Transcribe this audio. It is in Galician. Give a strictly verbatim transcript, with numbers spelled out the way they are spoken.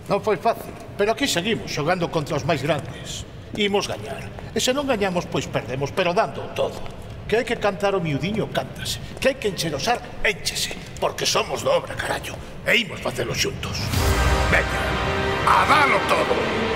Non foi fácil, pero aquí seguimos xogando contra os máis grandes. Imos gañar. E se non gañamos, pois perdemos, pero dando todo. Que hai que cantar o miudiño, cántase. Que hai que encherosar, énchese. Porque somos de obra, carallo. E imos facelo xuntos. Veña, a dalo todo.